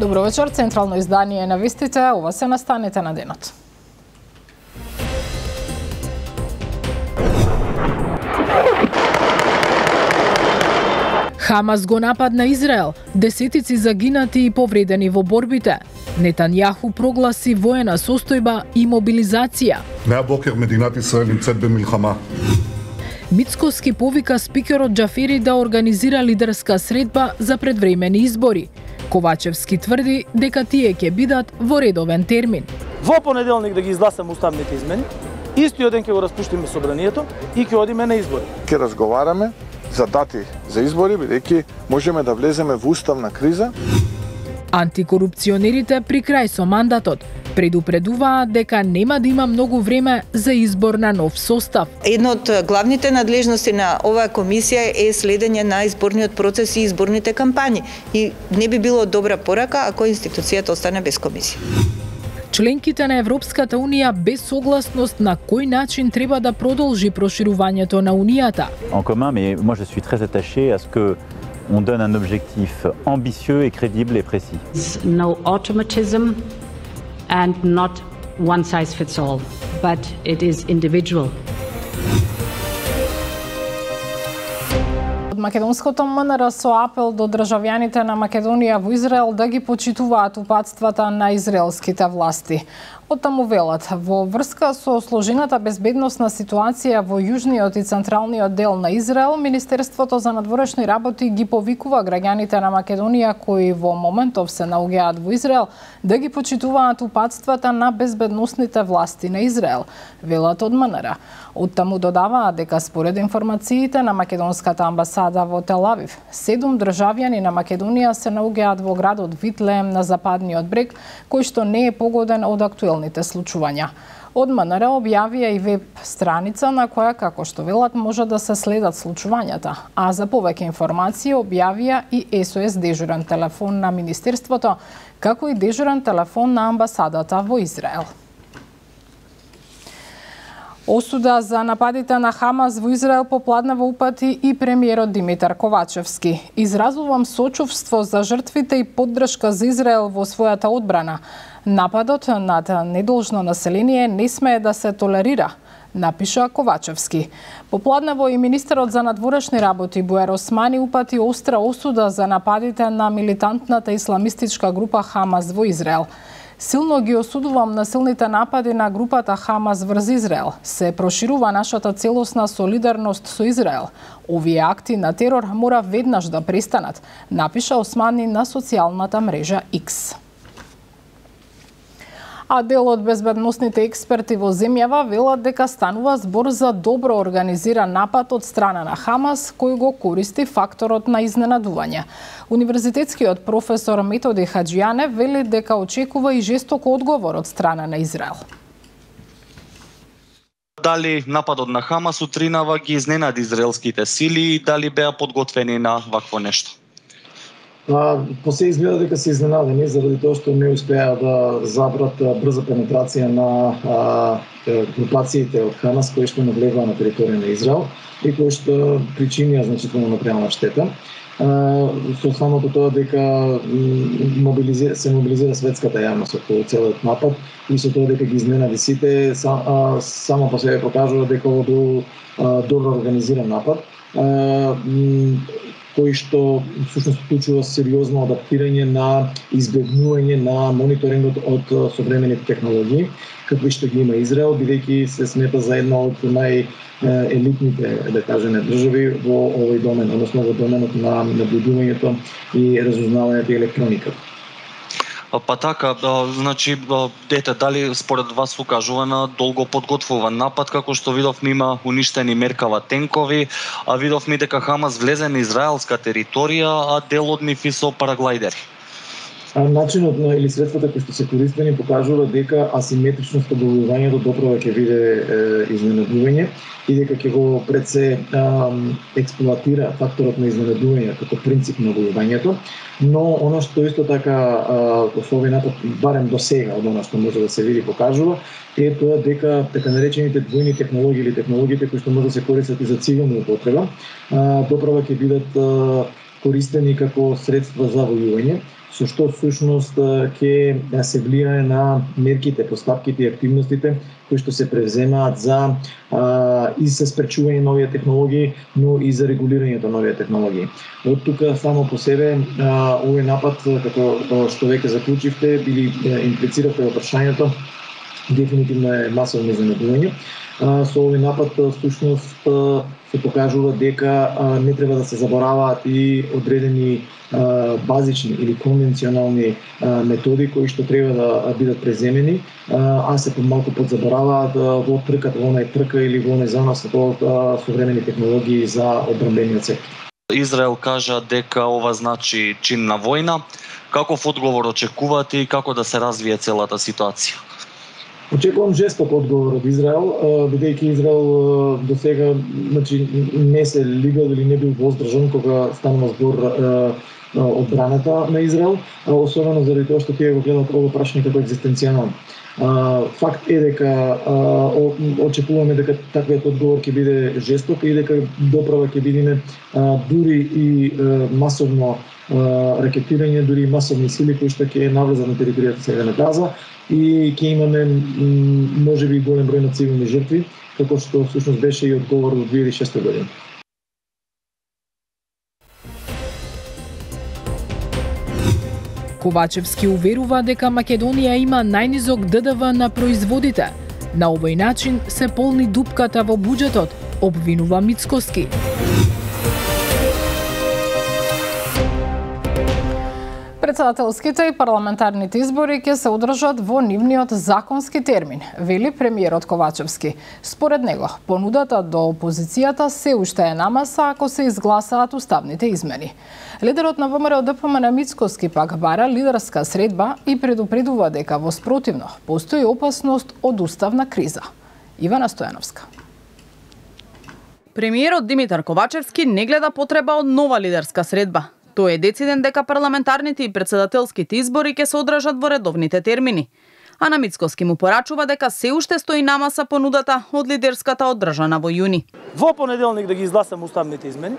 Добро вечер, централно издание на вестите, ова се настаните на денот. Хамас го нападна Израел, десетици загинати и повредени во борбите. Нетањаху прогласи воена состојба и мобилизација. מהבוקר מדינת ישראל נמצאת במלחמה. Мицкоски повика спикерот Џафери да организира лидерска средба за предвремени избори. Ковачевски тврди дека тие ќе бидат во редовен термин. Во понеделник да ги изгласаме уставните измени, истиот ден ќе го распуштиме собранието и ќе одиме на избори. Ќе разговараме за дати за избори, бидејќи можеме да влеземе во уставна криза. Антикорупционерите при крај со мандатот предупредуваат дека нема да има многу време за избор на нов состав. Една од главните надлежности на оваа комисија е следење на изборниот процес и изборните кампањи. И не би било добра порака ако институцијата остане без комисија. Членките на Европската Унија без согласност на кој начин треба да продолжи проширувањето на Унијата. En commun, mais moi je suis très attaché à ce que on donne un objectif ambitieux et crédible et précis. No automatism and not one size fits all, but it is individual. Од македонското МНР со апел до државјаните на Македонија во Израел да ги почитуваат упатствата на израелските власти. Оттаму велат, во врска со сложената безбедносна ситуација во јужниот и централниот дел на Израел, Министерството за надворешни работи ги повикува граѓаните на Македонија кои во моментов се наоѓаат во Израел да ги почитуваат упатствата на безбедносните власти на Израел, велат од МНР. Оттаму додаваат дека според информациите на македонската амбасада во Тел Авив, 7 државјани на Македонија се наоѓаат во градот Витлеем на западниот брег, кој што не е погоден од актуелните случувања. Од МНР објавија и веб страница на која, како што велат, може да се следат случувањата, а за повеќе информации објавија и SOS дежурен телефон на Министерството, како и дежурен телефон на амбасадата во Израел. Осуда за нападите на Хамас во Израел попладна во упати и премиерот Димитар Ковачевски. Изразувам сочувство за жртвите и поддршка за Израел во својата одбрана. Нападот над недолжно население не смее да се толерира, напиша Ковачевски. Попладнево и министерот за надворешни работи Буер Османи упати остра осуда за нападите на милитантната исламистичка група Хамас во Израел. Силно ги осудувам насилните напади на групата Хамас врз Израел. Се проширува нашата целосна солидарност со Израел. Овие акти на терор мора веднаш да престанат, напиша Османи на социјалната мрежа X. А дел од безбедносните експерти во земјава велат дека станува збор за добро организиран напад од страна на Хамас, кој го користи факторот на изненадување. Универзитетскиот професор Методи Хаџијане вели дека очекува и жесток одговор од страна на Израел. Дали нападот на Хамас утринава ги изненади израелските сили и дали беа подготвени на вакво нешто? По се изгледа дека се изненадени заради тоа што не успеа да забрат брза пенетрација на групациите од Хамас кои што навлегува на територија на Израел и кои што причинија значително материјална штета. Со самото тоа дека се мобилизира светската јавност околу целиот напад и со тоа дека ги изненади сите, само по себе покажува дека ова бил добро организиран напад, кој што всушност вклучува сериозно адаптирање на избегнување на мониторингот од современите технологии, какви што ги има Израел, бидејќи се смета за една од најелитните, да кажеме, држави во овој домен, односно во доменот на наблюдувањето и разузнавањето и електрониката. Па така, значи, дали според вас укажува на долго подготвуван напад, како што видовме има уништени Меркава тенкови, а видовме дека Хамас влезе на израелска територија, а дел од нив и со параглайдери. Начинот на или средствата кои што се користени покажува дека асиметричноста во војувањето доправа ќе биде изненадување и дека ќе го пред се експлоатира факторот на изненадување како принцип на војувањето, но оно што исто така со овој напад барем до сега од оно што може да се види покажува е тоа дека така наречените двојни технологии или технологиите кои што може да се користат и за цивилна употреба доправа ќе бидат користени како средства за војување, со што всушност ќе се влијае на мерките, постапките и активностите кои што се превземаат за и за спречување нови технологии, но и за регулирањето на нови технологии. Од тука само по себе овој напад, како што веќе заклучивте, или имплицирате во прашањето, дефинитивно е масовно изненадување. Со овој напад всушност се покажува дека не треба да се забораваат и одредени базични или конвенционални методи кои што треба да бидат преземени, а се помалку подзабораваат во трката, во онај трка или во онај занос од современи технологии за одбранбениот сектор. Израел кажа дека ова значи чин на војна. Каков одговор очекувате и како да се развие целата ситуација? Очекувам жесток одговор од Израел, бидејќи Израел до сега не се лигал или не бил воздржан кога станува збор одбраната на Израел, особено заради тоа што тие го гледат ова прашање како екзистенцијално. Факт е дека очекуваме дека таквиот одговор ќе биде жесток и дека доправа ќе бидеме дури и масовно ракетирање, дури и масовни сили кои што ќе навлезат на територијата сега на Газа и ќе имаме можеби голем број на цивилни жртви, како што всушност беше и одговор од 2006 година. Ковачевски уверува дека Македонија има најнизок ДДВ на производите. На овој начин се полни дупката во буџетот, обвинува Мицкоски. Председателските и парламентарните избори ќе се одржат во нивниот законски термин, вели премиерот Ковачевски. Според него, понудата до опозицијата се уште е на маса ако се изгласаат уставните измени. Лидерот на ВМРО-ДПМН Мицкоски пак бара лидерска средба и предупредува дека во спротивно постои опасност од уставна криза. Ивана Стојановска. Премиерот Димитар Ковачевски не гледа потреба од нова лидерска средба. Тој е дециден дека парламентарните и председателските избори ќе се одржат во редовните термини. А на Мицкоски му порачува дека се уште стои на маса понудата од лидерската одржана во јуни. Во понеделник да ги изгласаме уставните измени,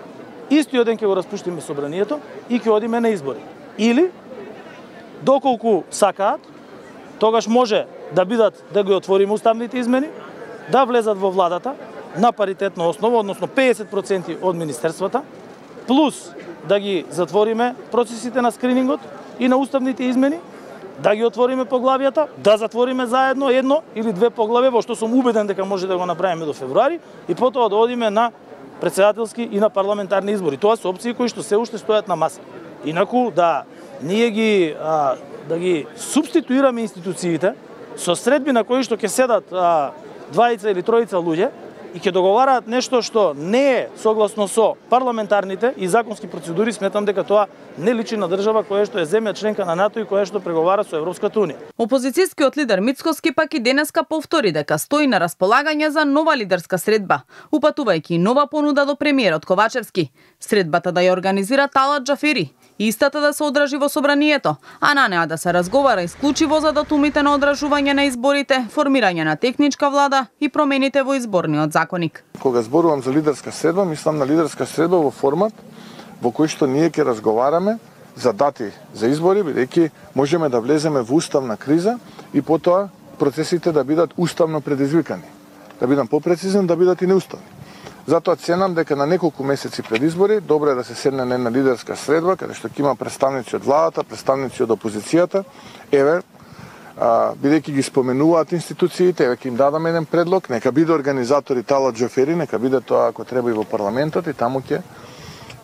истиот ден ќе го распуштиме собранието и ќе одиме на избори. Или доколку сакаат, тогаш може да бидат да ги отвориме уставните измени, да влезат во владата на паритетна основа, односно 50% од министерствата, плюс да ги затвориме процесите на скринингот и на уставните измени, да ги отвориме поглавијата, да затвориме заедно едно или две поглавја, во што сум убеден дека може да го направиме до февруари, и потоа да одиме на председателски и на парламентарни избори. Тоа се опции кои што се уште стојат на маса. Инаку да ние да ги субституираме институциите со средби на кои што ќе седат двајца или тројца луѓе и ќе договараат нешто што не е согласно со парламентарните и законски процедури, сметам дека тоа не личи на држава која што е земја членка на НАТО и која што преговара со Европската унија. Опозицијскиот лидер Мицкоски пак и денеска повтори дека стои на располагање за нова лидерска средба, упатувајќи нова понуда до премиерот Ковачевски. Средбата да ја организира Талат Џафери, истата да се одржи во собранието, а на неа да се разговара исклучиво за датумите на одржување на изборите, формирање на техничка влада и промените во изборниот законник. Кога зборувам за лидерска средба, мислам на лидерска средба во формат во кој што ние ќе разговараме за дати за избори, бидејќи можеме да влеземе во уставна криза и потоа процесите да бидат уставно предизвикани. Да бидам попрецизен, да бидат и неуставни. Затоа ценам дека на неколку месеци пред избори добро е да се седне на една лидерска средба, каде што ќе има представници од владата, представници од опозицијата. Еве, бидејќи ги споменуваат институциите, еве ќе им дадам еден предлог, нека биде организатори Талат Џафери, нека биде тоа ако треба и во парламентот, и таму ќе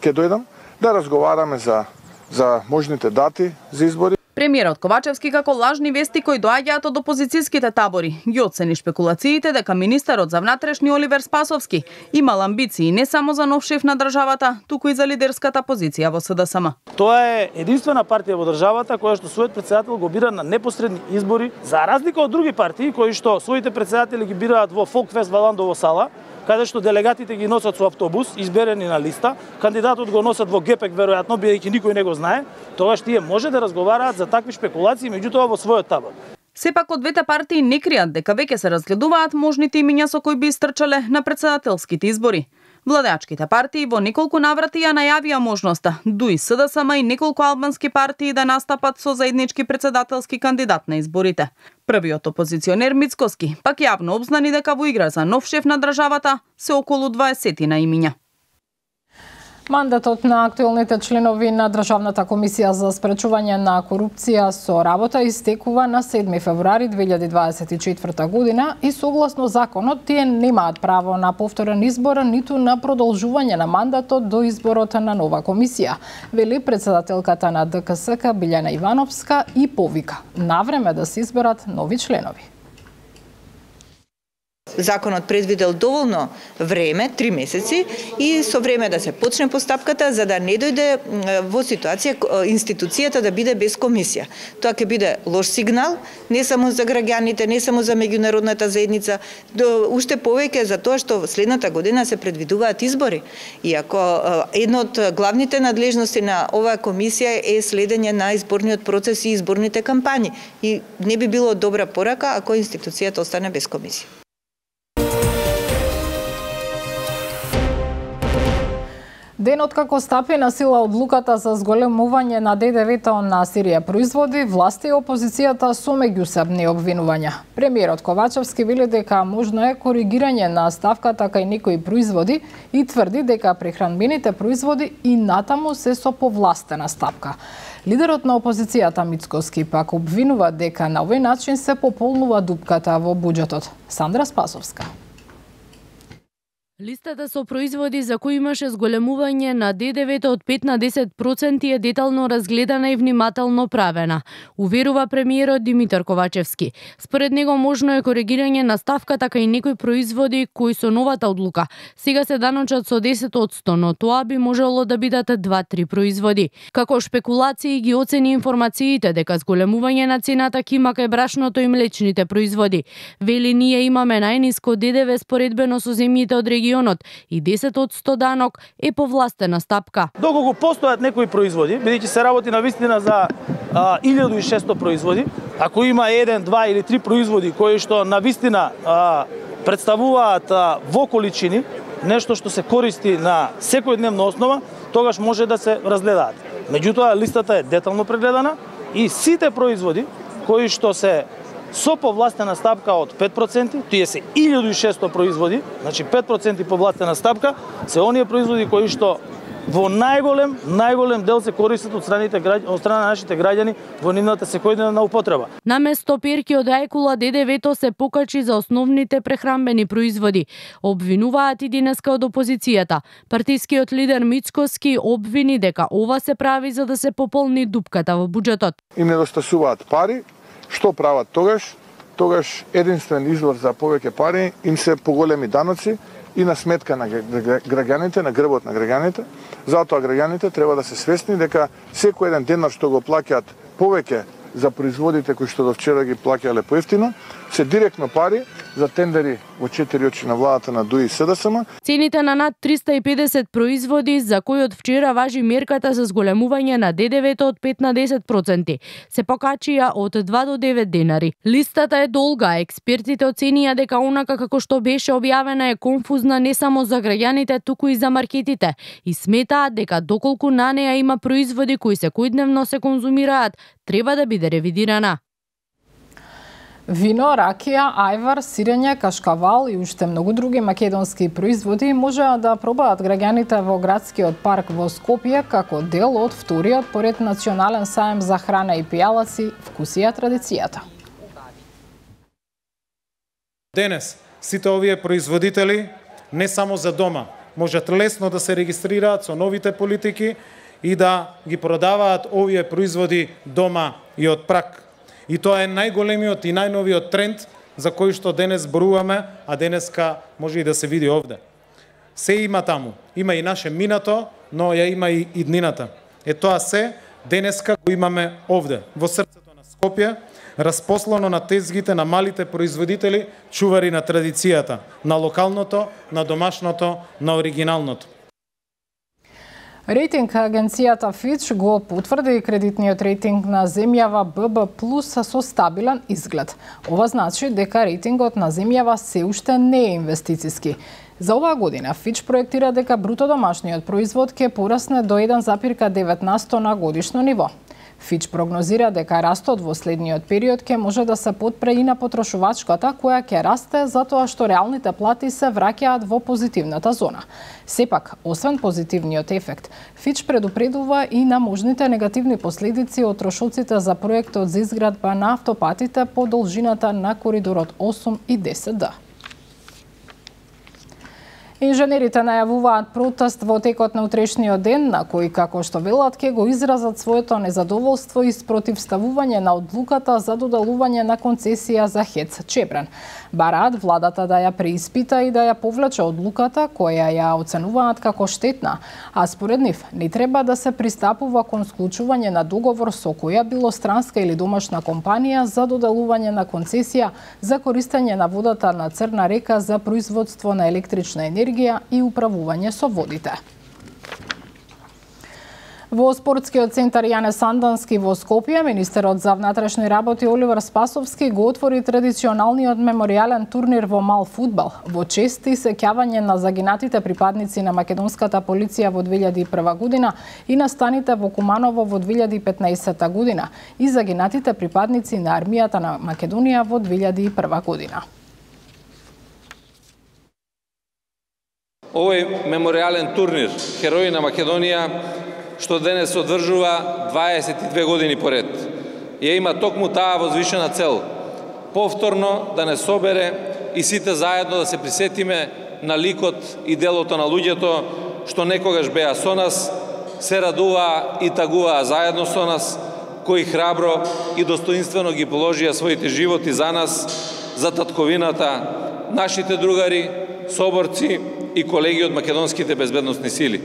дојдам да разговараме за можните дати за избори. Премиерот Ковачевски како лажни вести кои доаѓаат од опозицијските табори ги оцени шпекулациите дека министерот за внатрешни Оливер Спасовски имал амбиции не само за нов шеф на државата, туку и за лидерската позиција во СДСМ. Тоа е единствена партија во државата која што својот председател го бира на непосредни избори, за разлика од други партии кои што своите председатели ги бираат во Фолкфест Валандово сала, каде што делегатите ги носат со автобус, изберени на листа, кандидатот го носат во гепек веројатно, бидејќи никој не го знае, тогаш тие може да разговараат за такви шпекулации, меѓутоа во својот табор. Сепак од двете партии не кријат дека веќе се разгледуваат можните имиња со кои би истрчале на председателските избори. Владеачките партии во неколку наврати ја најавија можноста ДУИ, СДСМ и неколку албански партии да настапат со заеднички претседателски кандидат на изборите. Првиот опозиционер Мицкоски пак јавно обзнани дека во игра за нов шеф на државата се околу 20 на имиња. Мандатот на актуелните членови на Државната комисија за спречување на корупција со работа истекува на 7 февруари 2024 година и согласно законот тие немаат право на повторен избор ниту на продолжување на мандатот до изборот на нова комисија, вели претседателката на ДКСК Билјана Ивановска и повика навреме да се изберат нови членови. Законот предвидел доволно време, 3 месеци, и со време да се почне постапката за да не дојде во ситуација институцијата да биде без комисија. Тоа ќе биде лош сигнал, не само за граѓаните, не само за меѓународната заедница, уште повеќе за тоа што следната година се предвидуваат избори. Иако една од главните надлежности на оваа комисија е следење на изборниот процес и изборните кампањи. И не би било добра порака ако институцијата остане без комисија. Денот како стапи на сила одлуката за зголемување на ДДВ-то на Сирија производи, власти и опозицијата со меѓусебни обвинувања. Премиерот Ковачевски вели дека можно е коригирање на ставката кај некои производи и тврди дека прехранбените производи и натаму се со повластена стапка. Лидерот на опозицијата Мицкоски пак обвинува дека на овој начин се пополнува дупката во буџетот. Сандра Спасовска. Листата со производи за кои имаше зголемување на ДДВ-то од 5 на 10% е детално разгледана и внимателно правена, уверува премиерот Димитар Ковачевски. Според него можно е коригирање на ставката кај некои производи кои со новата одлука сега се даночат со 10%, но тоа би можело да бидат 2-3 производи. Како шпекулации ги оцени информациите дека зголемување на цената ќе има кај брашното и млечните производи. Вели ние имаме најниско ДДВ споредбено со земјите од регионот и 10% данок е повластена стапка. Доколку постојат некои производи, бидејќи се работи на вистина за 1600 производи, ако има 1, 2 или 3 производи кои што на вистина представуваат во количини нешто што се користи на секојдневна основа, тогаш може да се разгледаат. Меѓутоа листата е детално прегледана и сите производи кои што се со повластена стапка од 5%, тие се 1600 производи, значи 5% повластена стапка, се оние производи кои што во најголем дел се користат од страна на нашите граѓани во нивната секојдневна употреба. Наместо перки од ајкула ДДВ-то се покачи за основните прехранбени производи. Обвинуваат и денеска од опозицијата. Партискиот лидер Мицкоски обвини дека ова се прави за да се пополни дупката во буџетот. Им недостасуваат пари. Што прават тогаш? Тогаш единствен извор за повеќе пари им се поголеми даноци и на сметка на граѓаните, на грбот на граѓаните. Затоа граѓаните треба да се свесни дека секој еден денар што го плаќаат повеќе за производите кои што до вчера ги плаќале поевтино, се директно пари за тендери во 4 очи на владата на ДУИ и СДСМ. Цените на над 350 производи за кои од вчера важи мерката за зголемување на ДДВ-то од 5 на 10% се покачија од 2 до 9 денари. Листата е долга, експертите оценија дека онака како што беше објавена е конфузна не само за граѓаните, туку и за маркетите и сметаат дека доколку на неа има производи кои секојдневно се конзумираат, треба да биде ревидирана. Вино, ракија, ајвар, сирење, кашкавал и уште многу други македонски производи можеа да пробаат граѓаните во градскиот парк во Скопје како дел од вториот поред национален саем за храна и пијалаци Вкусија традицијата. Денес сите овие производители не само за дома можат лесно да се регистрираат со новите политики и да ги продаваат овие производи дома и од прак. И тоа е најголемиот и најновиот тренд за кој што денес зборуваме, а денеска може и да се види овде. Се има таму. Има и наше минато, но ја има и иднината. Тоа се денеска го имаме овде, во срцето на Скопје, распослано на тезгите на малите производители, чувари на традицијата, на локалното, на домашното, на оригиналното. Рейтинг агенцијата Fitch го потврди кредитниот рейтинг на земјава BB+ со стабилен изглед. Ова значи дека рейтингот на земјава се уште не е инвестициски. За оваа година Fitch проектира дека бруто домашниот производ ќе порасне до 1,9% на годишно ниво. Fitch прогнозира дека растот во следниот период ќе може да се потпре и на потрошувачката, која ќе расте затоа што реалните плати се враќаат во позитивната зона. Сепак, освен позитивниот ефект, Fitch предупредува и на можните негативни последици од трошоците за проектот за изградба на автопатите по должината на коридорот 8 и 10D. Инженерите најавуваат протест во текот на утрешниот ден, на кој, како што велат, ќе го изразат своето незадоволство и спротивставување на одлуката за доделување на концесија за ХЕЦ Чебрен. Бараат владата да ја преиспита и да ја повлече одлуката, која ја оценуваат како штетна, а според нив не треба да се пристапува кон склучување на договор со која било странска или домашна компанија за доделување на концесија за користење на водата на Црна река за производство на електрична енергија и управување со водите. Во спортскиот центар Јане Сандански во Скопје, министерот за внатрешни работи Оливер Спасовски го отвори традиционалниот меморијален турнир во мал фудбал во чест и сеќавање на загинатите припадници на македонската полиција во 2001 година и настаните во Куманово во 2015 година и загинатите припадници на армијата на Македонија во 2001 година. Овој меморијален турнир Херои на Македонија, што денес одржува 22 години поред, ја има токму таа возвишена цел: повторно да не собере и сите заедно да се присетиме на ликот и делото на луѓето што некогаш беа со нас, се радуваа и тагуваа заедно со нас, кои храбро и достоинствено ги положија своите животи за нас, за татковината, нашите другари, соборци и колеги од македонските безбедносни сили.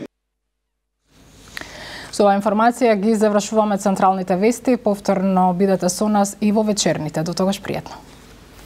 Со оваа информација ги завршуваме централните вести. Повторно бидете со нас и во вечерните. До тогаш пријатно.